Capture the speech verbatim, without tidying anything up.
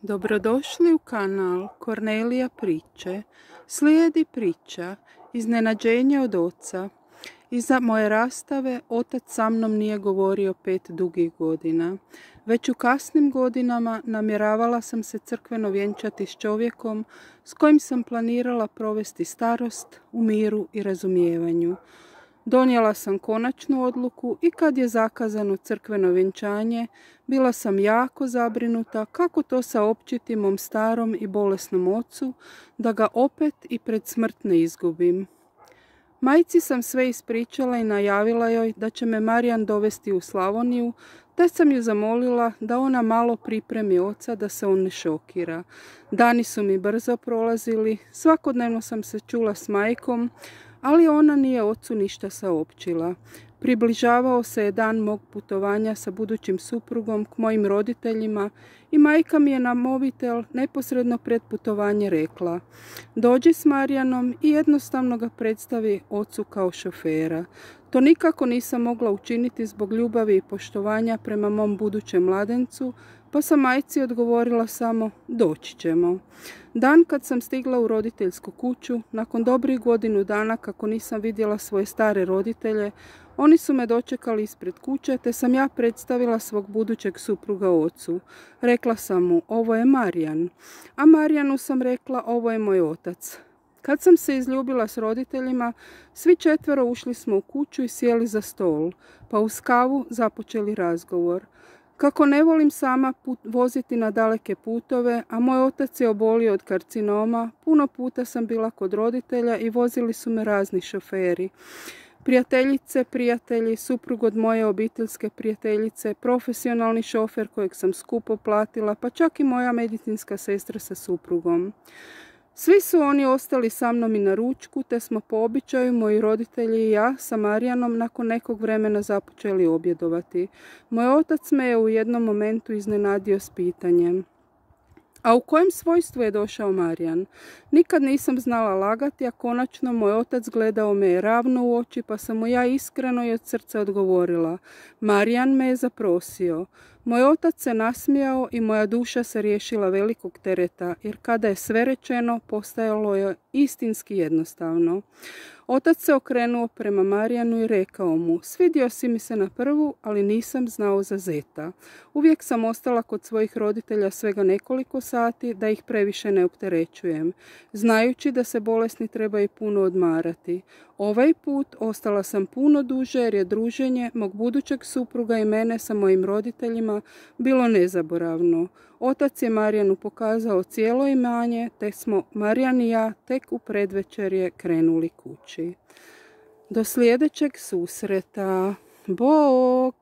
Dobrodošli u kanal Kornelija priče. Slijedi priča Iznenađenje od oca. Iza moje rastave otac sa mnom nije govorio pet dugih godina. Već u kasnim godinama namjeravala sam se crkveno vjenčati s čovjekom s kojim sam planirala provesti starost u miru i razumijevanju. Donijela sam konačnu odluku i kad je zakazano crkveno vjenčanje, bila sam jako zabrinuta kako to saopćiti mom starom i bolesnom ocu, da ga opet i pred smrt ne izgubim. Majci sam sve ispričala i najavila joj da će me Marijan dovesti u Slavoniju, te sam ju zamolila da ona malo pripremi oca da se on ne šokira. Dani su mi brzo prolazili, svakodnevno sam se čula s majkom, ali ona nije ocu ništa saopćila. Približavao se je dan mog putovanja sa budućim suprugom k mojim roditeljima i majka mi je na mobitel neposredno pred putovanje rekla: dođi s Marijanom i jednostavno ga predstavi ocu kao šofera. To nikako nisam mogla učiniti zbog ljubavi i poštovanja prema mom budućem mladencu, pa sam majci odgovorila samo: doći ćemo. Dan kad sam stigla u roditeljsku kuću, nakon dobrih godinu dana kako nisam vidjela svoje stare roditelje, oni su me dočekali ispred kuće, te sam ja predstavila svog budućeg supruga ocu. Rekla sam mu: ovo je Marijan. A Marijanu sam rekla: ovo je moj otac. Kad sam se izljubila s roditeljima, svi četvero ušli smo u kuću i sjeli za stol, pa uz kavu započeli razgovor. Kako ne volim sama put, voziti na daleke putove, a moj otac je obolio od karcinoma, puno puta sam bila kod roditelja i vozili su me razni šoferi. Prijateljice, prijatelji, suprug od moje obiteljske prijateljice, profesionalni šofer kojeg sam skupo platila, pa čak i moja medicinska sestra sa suprugom. Svi su oni ostali sa mnom i na ručku, te smo po običaju moji roditelji i ja sa Marijanom nakon nekog vremena započeli objedovati. Moj otac me je u jednom momentu iznenadio s pitanjem: a u kojem svojstvu je došao Marijan? Nikad nisam znala lagati, a konačno moj otac gledao me je ravno u oči, pa sam mu ja iskreno i od srca odgovorila: Marijan me je zaprosio. Moj otac se nasmijao i moja duša se riješila velikog tereta, jer kada je sve rečeno, postajalo je istinski jednostavno. Otac se okrenuo prema Marijanu i rekao mu: svidio si mi se na prvu, ali nisam znao za zeta. Uvijek sam ostala kod svojih roditelja svega nekoliko sati, da ih previše ne opterećujem, znajući da se bolesni trebaju puno odmarati. Ovaj put ostala sam puno duže, jer je druženje mog budućeg supruga i mene sa mojim roditeljima bilo nezaboravno. Otac je Marijanu pokazao cijelo imanje, te smo Marijan i ja tek u predvečerje krenuli kući. Do sljedećeg susreta. Bog!